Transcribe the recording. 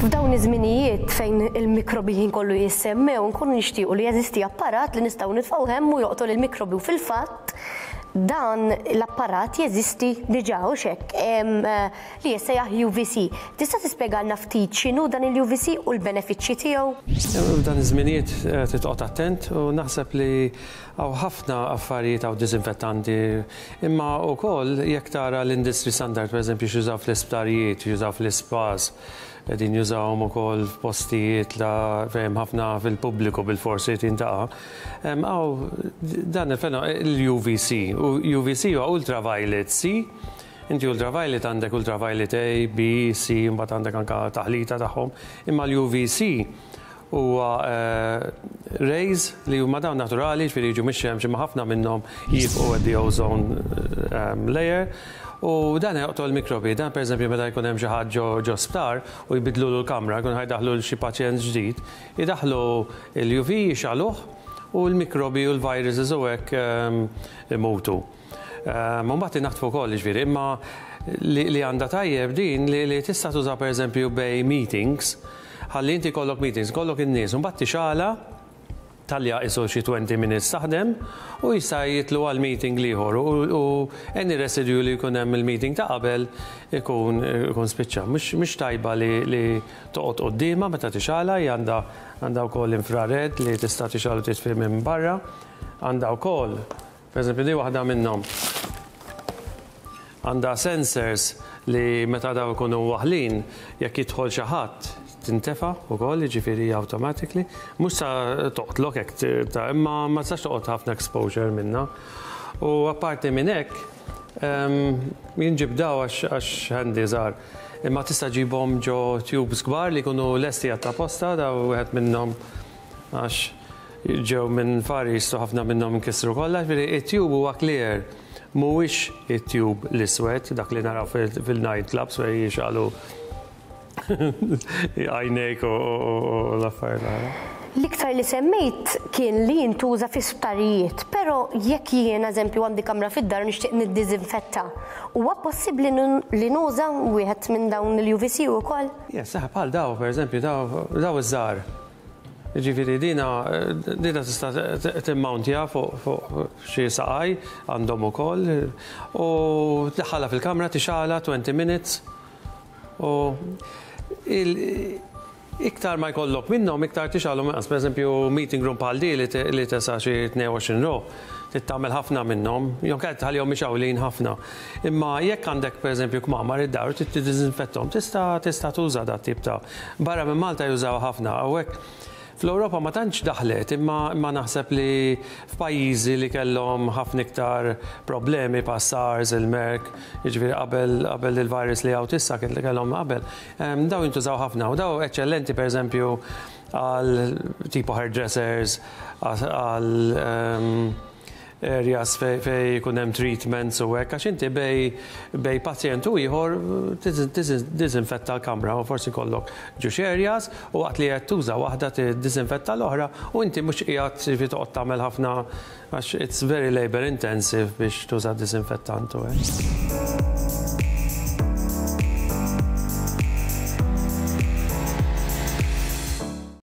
F'dawn iż-żminijiet fejn il-mikrobi ħin kollu jissemmew, nkunu nixtiequ li jeżisti apparat li nistgħu nitfgħu hemm u joqtol il-mikrobi u fil-fatt dan l-apparat jeżisti diġà hux hekk li jissejjaħ UVC. Tista' tispjegalna ftit x'inhu dan il-UVC u l-benefiċċji tiegħu? F'dan iż-żminijiet trid toqgħod attent u naħseb li hawn ħafna affarijiet hawn diżinfettanti imma wkoll jekk tara l-industry standard pereżempju x'jużaw fl-isptarijiet, x'jużaw fl-ispas, qegħdin jużawhom ukoll f'postijiet la fejn hemm ħafna fil-pubbliku bilfors irid jintaqa'. Hawn dan il-UVC, UVC huwa ultraviolet C Inti ultraviolet għandek ultraviolet A, B, C, imbagħad għandek anke taħlita tagħhom. Imma l-UVC huwa rays li huma dawn naturali, jiġifieri jiġu mix-xemx imma ħafna minnhom jibqgħu at the ozone layer. U dan joqtol mikrobi. Dan pereżempju meta jkun hemm xi ħadd ġo ġo sptar u jbiddlulu l-kamra, jkun ħa jdaħħlu xi pazjent ġdid, idaħħlu l-UV jixgħaluh u l-mikrobi u l-viruses u hekk imutu. Mbagħad inaħtfu wkoll jiġifieri, imma li għandha tajjeb din li tista' tuża pereżempju bejn meetings, ħalli inti jkollok meetings, jkollok in-nies u mbagħad tixgħalha talja qisu xi 20 minutes taħdem u jista' jitlu għal meeting l-ieħor u any residue li jkun hemm mill-meeting ta' qabel ikun ikun spiċċa. Mhux tajba li toqgħod quddiemha meta tixgħalha, hija għandha għandha wkoll infrared li tista' tixgħal u titfi minn barra. Għandha wkoll Pereżempju, di waħda minnhom għandha sensors li meta daw ikunu waħlin, jekk jidħol xi ħadd tintefa' wkoll, jiġifieri automatically. Mhux sa toqtlok hekk ta' imma ma tistax toqgħod ħafna exposure minnha. U apparti minn hekk, jien ġibt daw għax handy żgħar. Imma tista' ġibhom ġo tubes kbar li jkunu lesti għat-taposta, daw wieħed minnhom għax ġew minn Far East u ħafna minnhom inkisru kollha, jiġifieri it-tube huwa clear, mhuwiex it-tube l-iswed, dak li naraw fil-night clubs fejn jixgħalu għajnejk u l-affarijiet l-oħra. L-iktar li semmejt kien li jintuża fi sptarijiet, però jekk jien eżempju għandi kamra fid-dar u nixtieq niddiżinfetta, huwa possibbli li nuża wieħed minn dawn il-UVC ukoll? Yes, eħe bħal daw pereżempju daw daw iż-żgħar. Jiġifieri dina dina tista' timmawntja fuq fuq xi saqaj għandhom ukoll u tdaħħalha fil-kamra tixgħalha 20 minutes u il iktar ma jkollok minnhom iktar tixgħalhom inqas. Pereżempju meeting room bħal di li tesa' xi 22 ruħ trid tagħmel ħafna minnhom, jew inkella tħallihom mixgħulin ħafna. Imma jekk għandek pereżempju kmamar id-dar u trid tiddiżinfetthom tista' tista' tuża dat-tip ta' Barra minn Malta jużawha ħafna. Hawnhekk fl-Ewropa ma tantx daħlet imma imma naħseb li f'pajjiżi li kellhom ħafna iktar problemi bħal SARS, il-MERC, jiġifieri qabel qabel il-virus li hawn issa kien kellhom qabel, dawn jintużaw ħafna u dawn eċċellenti pereżempju għal tipo hairdressers, għal areas fejn ikun hemm treatments u hekk għax inti bejn bejn pazjent u ieħor tiddiżinfetta l-kamra u forsi jkollok ġewx areas u waqt li qed tuża waħda tiddiżinfetta l-oħra u inti mhux qiegħed jiġifieri toqgħod tagħmel ħafna għax it's very labour intensive biex tuża diżinfettant u hekk.